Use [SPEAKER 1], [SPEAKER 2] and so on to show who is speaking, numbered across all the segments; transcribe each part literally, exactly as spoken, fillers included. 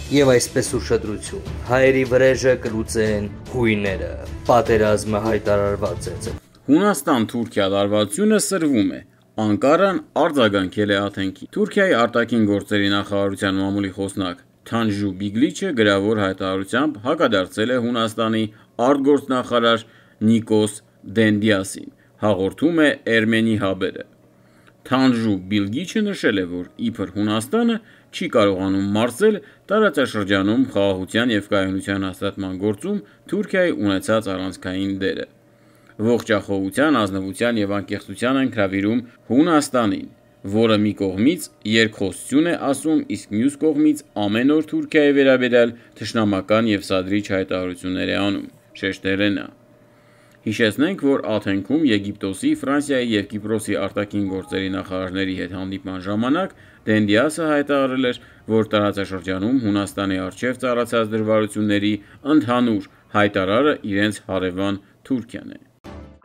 [SPEAKER 1] Եվ այսպես ուշադրություն, հայերի վրեժը կլուծեն հույները, պատերազմը հայտարարված է։
[SPEAKER 2] Հունաստան-Թուրքիա լարվածությունը սրվում է։ Անկարան արձագանքել է Աթենքին։ Թուրքիայի արտաքին գործերի նախարարության մամուլի խոսնակ Թանժու Բիգլիչը գրավոր հայտարարությամբ հակադարձել է Հունաստանի արտգործնախարար Նիկոս Դենդիասին, հաղորդում է Էրմենի հաբերը։ Թանժու Բիլգիչը նշել է, որ իբր Հունաստանը չի կարողանում մարզել տարածաշրջանում խաղաղության և կայունության հաստատման գործում Թուրքիայի ունեցած առանցքային դերը։ Ողջախոհության, ազնվության և անկեղծության են հրավիրում Հունաստանին, որը մի կողմից երկխոսություն է ասում, իսկ մյուս կողմից ամեն օր Թուրքիայի վերաբերյալ թշնամական և սադրիչ հայտարարություններ է անում, շեշտել է նա։ Հիշեցնենք, որ Աթենքում Եգիպտոսի, Ֆրանսիայի և Կիպրոսի արտաքին գործերի նախարարների հետ հանդիպման ժամանակ Դենդիասը հայտարարել էր, որ տարածաշրջանում Հունաստանի առջև ծառացած դժվարությունների ընդհանուր հայտարարը իրենց հարևան Թուրքիան է։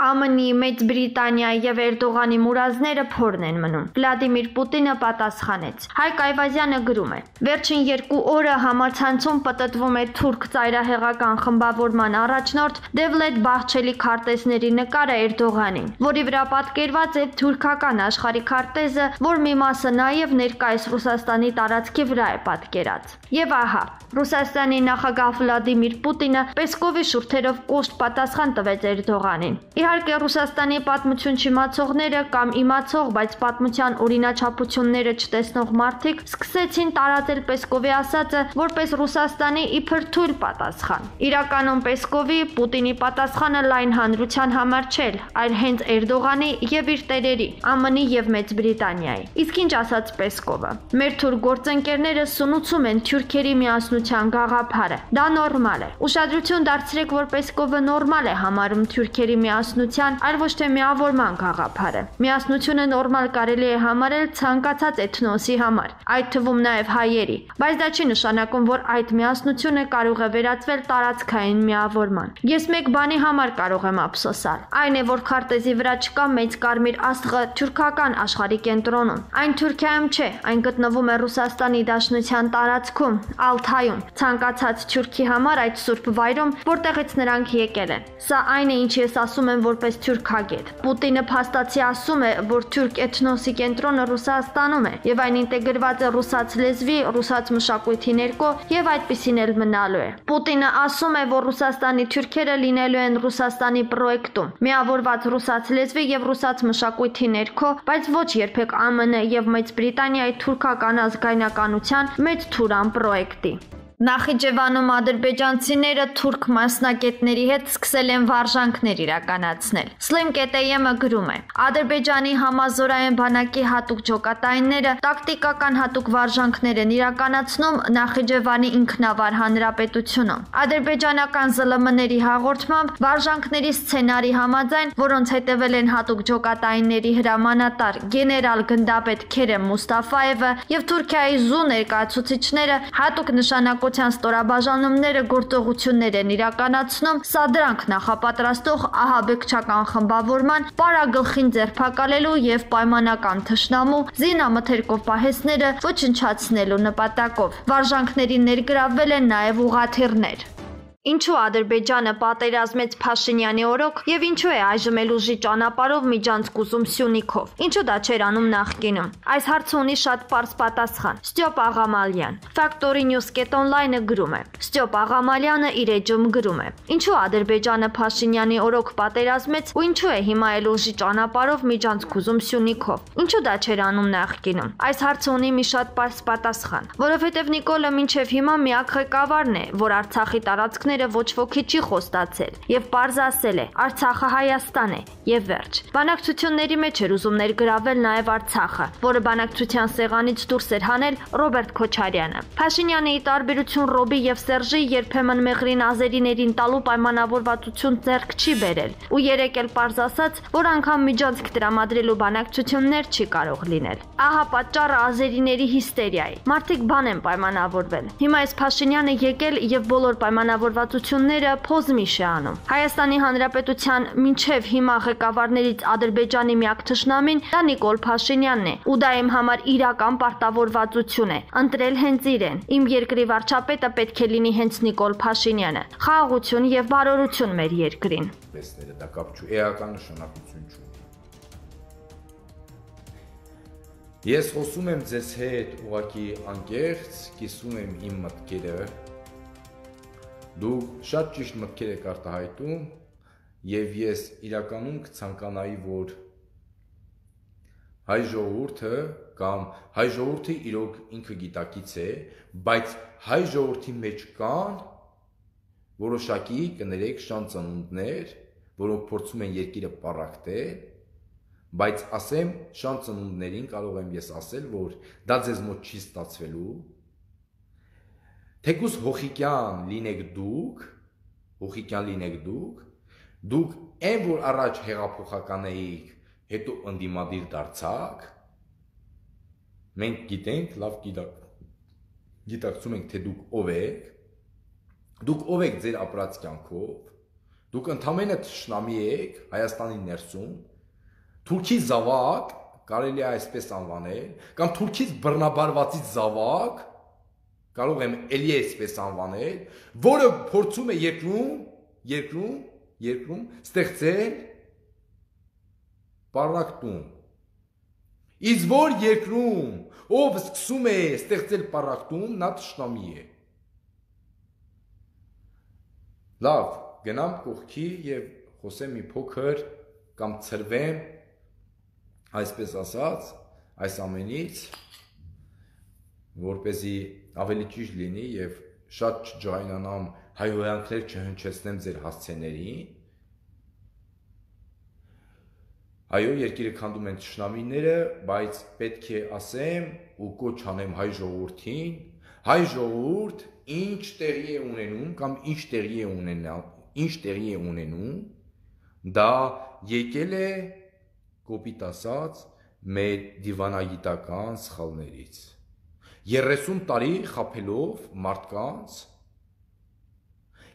[SPEAKER 3] ԱՄՆ-ի, Մեծ Բրիտանիայի եւ Էրդողանի մուրազները փորն են մնում։ Վլադիմիր Պուտինը պատասխանեց։ Հայկ Այվազյանը գրում է. Վերջին երկու օրը համացանցում պտտվում է թուրք ծայրահեղական խմբավորման առաջնորդ Դևլետ Բահչելի քարտեզների նկարը Էրդողանին, որի վրա պատկերված է թուրքական աշխարհի քարտեզը, որ մի մասը նաեւ ներկայիս Ռուսաստանի տարածքի վրա է պատկերած։ Եվ ահա, Ռուսաստանի նախագահ Վլադիմիր Պուտինը Պեսկովի շուրթերով կոշտ պատասխան տվեց Էրդողանին։ Իհարկե Ռուսաստանի պատմություն չիմացողները կամ իմացող, բայց պատմության օրինաչափությունները չտեսնող մարդիկ սկսեցին տարածել Պեսկովի ասածը որպես Ռուսաստանի իբր թույլ պատասխան։ Իրականում Պեսկովի Պուտինի պատասխանը լայն հանրության համար չէր, այլ հենց Էրդողանի եւ իր տերերի, ԱՄՆ-ի եւ Մեծ Բրիտանիայի։ Իսկ ինչ ասաց Պեսկովը։ Մեր թուրք գործընկերները սնուցում են թուրքերի միասնության գաղափարը։ Դա նորմալ է։ Ուշադրություն դարձրեք, որ Պեսկովը նորմալ է համարում թուրքերի միասնության, այլ ոչ թե միավորման գաղափարը։ Միասնությունը նորմալ կարելի է համարել ցանկացած էթնոսի համար, այդ թվում նաև հայերի, բայց դա չի նշանակում, որ այդ միասնությունը կարող է վերածվել տարածքային միավորման։ Ես մեկ բանի համար կարող եմ ափսոսալ, այն է, որ քարտեզի վրա չկա մեծ կարմիր աստղը թուրքական աշխարհի կենտրոնում։ Այն Թուրքիայում չէ, այն գտնվում է Ռուսաստանի Դաշնության տարածքում, Ալթայում, ցանկացած թուրքի համար այդ սուրբ վայրում, որտեղից նրանք եկել են։ Սա այն է, ինչ ես ասում եմ որպես թուրքագետ։ Պուտինը փաստացի ասում է, որ թուրք էթնոսի կենտրոնը Ռուսաստանում է, եւ այն ինտեգրված է ռուսաց լեզվի, ռուսաց մշակույթի ներքո եւ այդպիսին էլ մնալու է։ Պուտինը ասում է, որ Ռուսաստանի թուրքերը լինելու են Ռուսաստանի պրոյեկտում, միավորված ռուսաց լեզվի եւ ռուսաց մշակույթի ներքո, բայց ոչ երբեք ԱՄՆ եւ Մեծ Բրիտանիայի թուրքական ազգայնականության մեծ թուրան պրոյեկտի։ Նախիջևանում ադրբեջանցիները թուրք մասնակիցների հետ սկսել են վարժանքներ իրականացնել։ Slim K T M-ը գրում է. Ադրբեջանի համազորային բանակի հատուկ ջոկատայինները տակտիկական հատուկ վարժանքներ են իրականացնում Նախիջևանի ինքնավար հանրապետությունում։ Ադրբեջանական Զ L M-ների հաղորդմամբ վարժանքների սցենարի համաձայն, որոնց հետևել են հատուկ ջոկատայինների հրամանատար գեներալ գնդապետ Քերեմ Մուստաֆաևը եւ Թուրքիայի զու ներկայացուցիչները հատուկ նշանակ ստորաբաժանումները գործողություններ են իրականացնում սադրանք նախապատրաստող ահաբեկչական խմբավորման պարագլխին ձերբակալելու եւ պայմանական թշնամու զինամթերքով պահեսները ոչնչացնելու նպատակով։ Վարժանքներին ներգրավվել են նաեւ ուղաթիռներ։ Ինչու Ադրբեջանը պատերազմեց Փաշինյանի օրոք եւ ինչու է այժմ էլ ուժի ճանապարհով միջանցքուզում Սյունիքով։ Ինչու դա չէր անում նախկինում։ Այս հարցը ունի շատ պարզ պատասխան։ Ստյոպ Աղամալյան։ Factory News.online-ը գրում է։ Ստյոպ Աղամալյանը իր էջում գրում է. Ինչու Ադրբեջանը Փաշինյանի օրոք պատերազմեց ու ինչու է հիմա էլ ուժի ճանապարհով միջանցքուզում Սյունիքով։ Ինչու դա չէր անում նախկինում։ Այս հարցը ունի մի շատ պարզ պատասխան, որովհետեւ Նիկոլը մինչեւ հիմա միակ ղեկավարն է, որ Արցախի տարածքները ոչ ոքի չի խոստացել եւ պարզ ասել է Արցախը Հայաստան է եւ վերջ։ Բանակցությունների մեջ էր ուզում ներգրավել նաեւ Արցախը, որը բանակցության սեղանից դուրս էր հանել Ռոբերտ Քոչարյանը։ Փաշինյանը ի տարբերություն Ռոբի եւ Սերժի երբեմն մեղրին ազերիներին տալու պայմանավորվածություն ձեռք չի բերել ու երեք էլ պարզ ասաց, որ անգամ միջանցք տրամադրելու բանակցություններ չի կարող լինել։ Ահա պատճառը ազերիների հիստերիայի։ Մարդիկ բան են պայմանավորվել։ Հիմա այս Փաշինյանը եկել եւ բոլոր պայմանավորված պարտավորվածությունները փոզմիշ է անում։ Հայաստանի Հանրապետության մինչև հիմա ղեկավարներից Ադրբեջանի միակ թշնամին դա Նիկոլ Փաշինյանն է, ու դա իմ համար իրական պարտավորվածություն է, ընտրել հենց իրեն։ Իմ երկրի վարչապետը պետք է լինի հենց Նիկոլ Փաշինյանը։ Խաղաղություն եւ բարօրություն մեր երկրին։
[SPEAKER 4] Դա կապ չու, էական նշանակություն չունի։ Ես խոսում եմ ձեզ հետ ուղղակի անկեղծ, կիսում եմ իմ մտքերը, դուք շատ ճիշտ մտքեր եք արտահայտում, եւ ես իրականում կցանկանայի, որ հայ ժողովուրդը կամ հայ ժողովուրդը իրոք ինքը գիտակից է, բայց հայ ժողովրդի մեջ կան որոշակի կներեք շան ծնունդներ, որոնք փորձում են երկիրը պառակտել, բայց ասեմ շան ծնունդներին կարող եմ ես ասել, որ դա ձեզ մոտ չի ստացվելու, թեկուզ հոխիկյան լինեք դուք, հոխիկյան լինեք դուք, դուք այն, որ առաջ հեղափոխական էիք, հետո ընդդիմադիր դարձաք, մենք գիտենք, լավ գիտակցում ենք, թե դուք ով եք, դուք ով եք ձեր ապրած կյանքով, դուք ընդամենը թշնամի եք Հայաստանի ներսում, Թուրքի զավակ, կարելի է այսպես անվանել, կամ Թուրքից բռնաբարվածից զավակ, կարող եմ էլի այսպես անվանել, որը փորձում է երկրում, երկրում, երկրում ստեղծել պառակտում։ Իսկ որ երկրում, ով սկսում է ստեղծել պառակտում, նա թշնամի է։ Լավ, գնամ կողքի եւ խոսեմ մի փոքր կամ ծրվեմ այսպես ասած, այս ամենից, որպեսզի ավելի ճիշտ լինի եւ շատ չջայնանամ, հայհոյանքներ չհնչեցնեմ ձեր հասցեներին։ Այո, երկիրը քանդում են թշնամիները, բայց պետք է ասեմ ու կոչ անեմ հայ ժողովրդին, հայ ժողովուրդ ինչ տեղի է ունենում կամ ինչ տեղի է ունենալ, ինչ տեղի է ունենում, դա եկել է կոպիտ ասած, մեր դիվանագիտական սխալներից, երեսուն տարի խաբելով մարդկանց,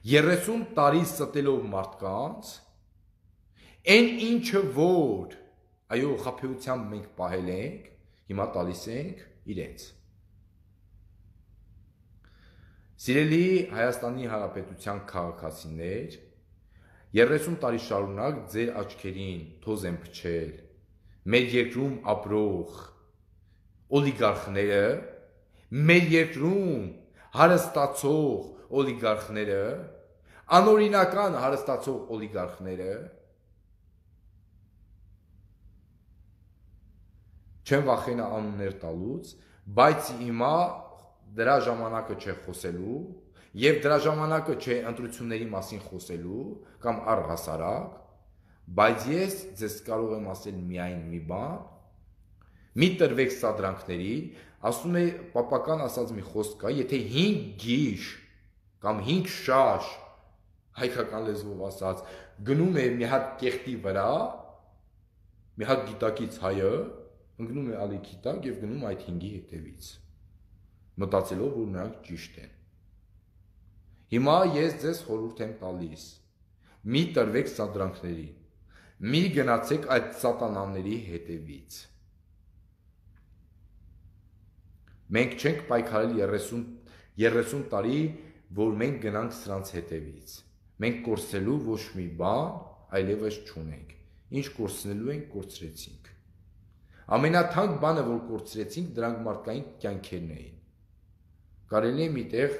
[SPEAKER 4] երեսուն տարի ստելով մարդկանց, այն ինչը որ, այո, խաբեությամբ մենք պահել ենք, հիմա տալիս ենք իրենց։ Սիրելի Հայաստանի Հանրապետության քաղաքացիներ, երեսուն տարի շարունակ ձեր աչքերին թոզ են փչել մեր երկրում ապրող օլիգարխները, մեր երկրում հարստացող օլիգարխները, անօրինական հարստացող օլիգարխները, չեմ վախենա անուններ տալուց, բայց հիմա դրա ժամանակը չէ խոսելու, եւ դրա ժամանակը չէ ընտրությունների մասին խոսելու կամ առհասարակ, բայց ես ձեզ կարող եմ ասել միայն մի բան, մի տրվեք սադրանքների, ասում է պապական ասած մի խոսք կա, եթե հինգ գիշ կամ հինգ շաշ, հայկական լեզվով ասած, գնում է մի հատ կեղտի վրա, մի հատ գիտակից հայը, ընկնում է ալիքի տակ եւ գնում այդ հինգի հետևից, մտածելով, որ նրանք ճիշտ են։ Հիմա ես ձեզ խորհուրդ եմ տալիս, մի տրվեք սադրանքներին, մի գնացեք այդ սատանաների հետևից։ Մենք չենք պայքարել երեսուն տարի, որ մենք գնանք սրանց հետևից։ Մենք կորցնելու ոչ մի բան այլևս չունենք։ Ինչ կորցնելու ենք, կորցրեցինք։ Ամենաթանկ բանը, որ կորցրեցինք, դրանք մարդկային կյանքերն էին։ Կարելի է միտեղ